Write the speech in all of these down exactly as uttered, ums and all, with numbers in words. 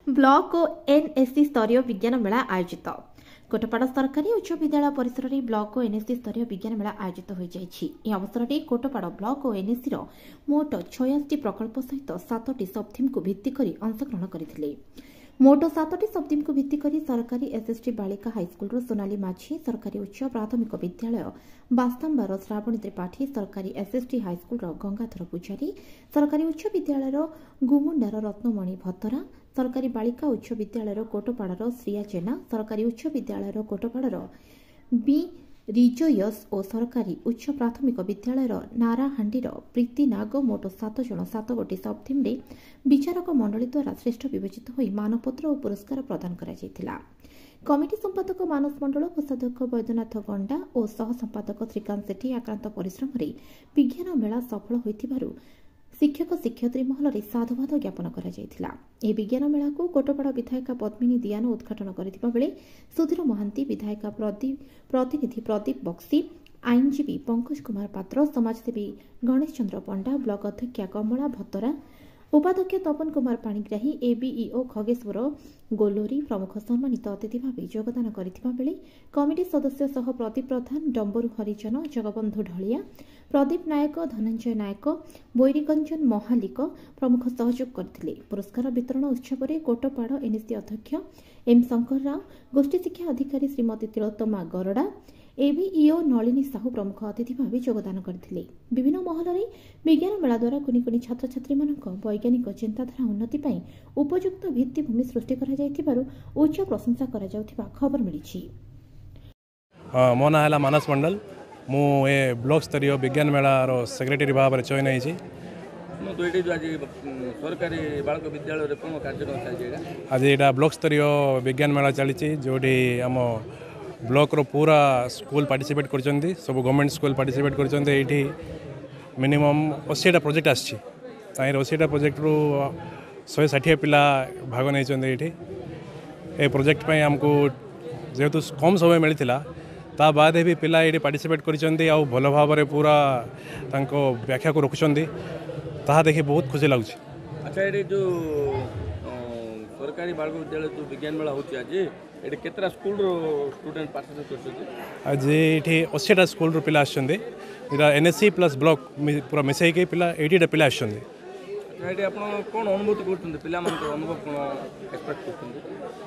Block ଓ NAC ସ୍ତରୀୟ ବିଜ୍ଞାନ ମେଳା ଆୟୋଜିତ। କୋଟପାଡ଼ ସରକାରୀ ଉଚ୍ଚ ବିଦ୍ୟାଳୟ ପରିସରରେ ବ୍ଲକ ଓ ଏନ୍ଏସି ସ୍ତରୀୟ ବିଜ୍ଞାନ ମେଳା ଆୟୋଜିତ ହୋଇଯାଇଛି। ଏହି ଅବସରରେ କୋଟପାଡ଼ ବ୍ଲକ ଓ ଏନ୍ଏସିର ମୋଟ ଛୟାଅଶୀଟି ପ୍ରକଳ୍ପ ସହିତ ସାତଟି ସବଥିମ୍କୁ ଭିତ୍ତି କରି ଅଂଶଗ୍ରହଣ କରିଥିଲେ। ମୋଟ ସାତଟି ସବଥିମ୍କୁ ଭିତ୍ତି କରି ସରକାରୀ ଏସ୍ଏସ୍ଟି ବାଳିକା ହାଇସ୍କୁଲର ସୋନାଲି ମାଝୀ, ସରକାରୀ ଉଚ୍ଚ ପ୍ରାଥମିକ ବିଦ୍ୟାଳୟ ବାସ୍ତାମ୍ବାର ଶ୍ରାବଣୀ ତ୍ରିପାଠୀ, ସରକାରୀ ଏସ୍ଏସ୍ଟି ହାଇସ୍କୁଲର ଗଙ୍ଗାଧର ପୂଜାରୀ, ସରକାରୀ ଉଚ୍ଚ ବିଦ୍ୟାଳୟର ଗୁମୁଣ୍ଡାର ରତ୍ନମଣି ଭତରା, ସରକାରୀ ବାଳିକା ଉଚ୍ଚ ବିଦ୍ୟାଳୟର କୋଟପାଡ଼ର ଶ୍ରିୟା ଜେନା, ସରକାରୀ ଉଚ୍ଚ ବିଦ୍ୟାଳୟର କୋଟପାଡ଼ର ବି ରିଜୋୟସ୍ ଓ ସରକାରୀ ଉଚ୍ଚ ପ୍ରାଥମିକ ବିଦ୍ୟାଳୟର ନାରାହାଣ୍ଡିର ପ୍ରୀତି ନାଗ ମୋଟ ସାତ ଜଣ ସାତ ଗୋଟି ସବଥିମ୍ରେ ବିଚାରକ ମଣ୍ଡଳୀ ଦ୍ୱାରା ଶ୍ରେଷ୍ଠ ବିବେଚିତ ହୋଇ ମାନପତ୍ର ଓ ପୁରସ୍କାର ପ୍ରଦାନ କରାଯାଇଥିଲା। କମିଟି ସମ୍ପାଦକ ମାନସ ମଣ୍ଡଳ, କୋଷାଧ୍ୟକ୍ଷ ବୈଦ୍ୟନାଥ ଗଣ୍ଡା ଓ ସହ ସମ୍ପାଦକ ଶ୍ରୀକାନ୍ତ ସେଠୀ ଆକ୍ରାନ୍ତ ପରିଶ୍ରମରେ ବିଜ୍ଞାନ ମେଳା ସଫଳ ହୋଇଥିବାରୁ ଶିକ୍ଷକ ଶିକ୍ଷୟିତ୍ରୀ ମହଲରେ ସାଧୁବାଦ ଜ୍ଞାପନ କରାଯାଇଥିଲା। ଏହି ବିଜ୍ଞାନ ମେଳାକୁ କୋଟପାଡ଼ ବିଧାୟିକା ପଦ୍ମିନୀ ଦିଆନ ଉଦ୍ଘାଟନ କରିଥିବା ବେଳେ ସୁଧୀର ମହାନ୍ତି, ବିଧାୟିକା ପ୍ରତିନିଧି ପ୍ରଦୀପ ବକ୍ସି, ଆଇନଜୀବୀ ପଙ୍କଜ କୁମାର ପାତ୍ର, ସମାଜସେବୀ ଗଣେଶ ଚନ୍ଦ୍ର ପଣ୍ଡା, ବ୍ଲକ ଅଧ୍ୟକ୍ଷା କମଳା ଭତରା, ଉପାଧ୍ୟକ୍ଷ ତପନ କୁମାର ପାଣିଗ୍ରାହୀ, ଏବିଇଓ ଖଗେଶ୍ୱର ଗୋଲୋରୀ ପ୍ରମୁଖ ସମ୍ମାନିତ ଅତିଥି ଭାବେ ଯୋଗଦାନ କରିଥିବା ବେଳେ କମିଟି ସଦସ୍ୟ ସହ ପ୍ରଦୀପ ପ୍ରଧାନ, ଡମ୍ବରୁ ହରିଜନ, ଜଗବନ୍ଧୁ ଢଳିଆ, ପ୍ରଦୀପ ନାୟକ, ଧନଞ୍ଜୟ ନାୟକ, ବୈରିଗଞ୍ଜନ ମହାଲିକ ପ୍ରମୁଖ ସହଯୋଗ କରିଥିଲେ। ପୁରସ୍କାର ବିତରଣ ଉତ୍ସବରେ କୋଟପାଡ଼ ଏନ୍ଏସି ଅଧ୍ୟକ୍ଷ ଏମ୍ ଶଙ୍କର ରାଓ, ଗୋଷ୍ଠୀ ଶିକ୍ଷା ଅଧିକାରୀ ଶ୍ରୀମତୀ ତିଳୋତ୍ତମା ଗରଡ଼ା, ଏବିଇଓ ନଳିନୀ ସାହୁ ପ୍ରମୁଖ ଅତିଥି ଭାବେ ଯୋଗଦାନ କରିଥିଲେ। ବିଭିନ୍ନ ମହଲରେ ବିଜ୍ଞାନ ମେଳା ଦ୍ୱାରା କୁନି କୁନି ଛାତ୍ରଛାତ୍ରୀମାନଙ୍କ ବୈଜ୍ଞାନିକ ଚିନ୍ତାଧାରା ଉନ୍ନତି ପାଇଁ ଉପଯୁକ୍ତ ଭିତ୍ତିଭୂମି ସୃଷ୍ଟି କରାଯାଇଥିବାରୁ ଉଚ୍ଚ ପ୍ରଶଂସା କରାଯାଉଥିବା ଖବର ମିଳିଛି। ମୋ ନାଁ ହେଲା ମାନସ ମଣ୍ଡଳ। ମୁଁ ଏ ବ୍ଲକ ସ୍ତରୀୟ ବିଜ୍ଞାନ ମେଳାର ସେକ୍ରେଟାରୀ ଭାବରେ ଚୟନ ହେଇଛି। ଏଇଠି ଯେଉଁ ଆଜି ସରକାରୀ ବାଳକ ବିଦ୍ୟାଳୟରେ କ'ଣ କାର୍ଯ୍ୟକ୍ରମ ଚାଲିଛି ଏଇଟା? ଆଜି ଏଇଟା ବ୍ଲକ ସ୍ତରୀୟ ବିଜ୍ଞାନ ମେଳା ଚାଲିଛି, ଯେଉଁଠି ଆମ ବ୍ଲକର ପୁରା ସ୍କୁଲ ପାର୍ଟିସିପେଟ୍ କରିଛନ୍ତି, ସବୁ ଗଭର୍ଣ୍ଣମେଣ୍ଟ ସ୍କୁଲ ପାର୍ଟିସିପେଟ୍ କରିଛନ୍ତି। ଏଇଠି ମିନିମମ୍ ଅଶୀଟା ପ୍ରୋଜେକ୍ଟ ଆସିଛି। ତାହିଁରେ ଅଶୀଟା ପ୍ରୋଜେକ୍ଟରୁ ଶହେ ଷାଠିଏ ପିଲା ଭାଗ ନେଇଛନ୍ତି ଏଇଠି। ଏ ପ୍ରୋଜେକ୍ଟ ପାଇଁ ଆମକୁ ଯେହେତୁ କମ୍ ସମୟ ମିଳିଥିଲା, ତା ବାଦେ ବି ପିଲା ଏଇଠି ପାର୍ଟିସିପେଟ୍ କରିଛନ୍ତି ଆଉ ଭଲ ଭାବରେ ପୁରା ତାଙ୍କ ବ୍ୟାଖ୍ୟାକୁ ରଖୁଛନ୍ତି, ତାହା ଦେଖି ବହୁତ ଖୁସି ଲାଗୁଛି। ଆଚ୍ଛା, ଏଇଠି ଯେଉଁ ସରକାରୀ ବାଳକ ବିଦ୍ୟାଳୟ ଯେଉଁ ବିଜ୍ଞାନ ମେଳା ହେଉଛି ଆଜି, ଏଠି କେତେଟା ସ୍କୁଲର ଷ୍ଟୁଡେଣ୍ଟ ପାର୍ଟିସିପେଟ୍ କରିଛନ୍ତି? ଆଜି ଏଇଠି ଅଶୀଟା ସ୍କୁଲରୁ ପିଲା ଆସିଛନ୍ତି। ଏଇଟା N S C plus block ପୁରା ମିଶାଇକି ପିଲା ଏଇଟିଟା ପିଲା ଆସିଛନ୍ତି। ଆଚ୍ଛା, ଏଠି ଆପଣ କ'ଣ ଅନୁଭୂତି କରୁଛନ୍ତି? ପିଲାମାନଙ୍କର ଅନୁଭବ କ'ଣ ଏକ୍ସପେକ୍ଟ କରୁଛନ୍ତି?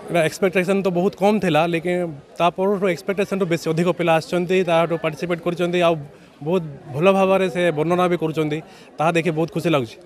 ଏଇଟା ଏକ୍ସପେକ୍ଟେସନ୍ ତ ବହୁତ କମ୍ ଥିଲା, ଲେକିନ୍ ତା ପରଠୁ ଏକ୍ସପେକ୍ଟେସନ୍ଠୁ ବେଶୀ ଅଧିକ ପିଲା ଆସିଛନ୍ତି, ତାଠୁ ପାର୍ଟିସିପେଟ୍ କରିଛନ୍ତି ଆଉ ବହୁତ ଭଲ ଭାବରେ ସେ ବର୍ଣ୍ଣନା ବି କରୁଛନ୍ତି, ତାହା ଦେଖି ବହୁତ ଖୁସି ଲାଗୁଛି।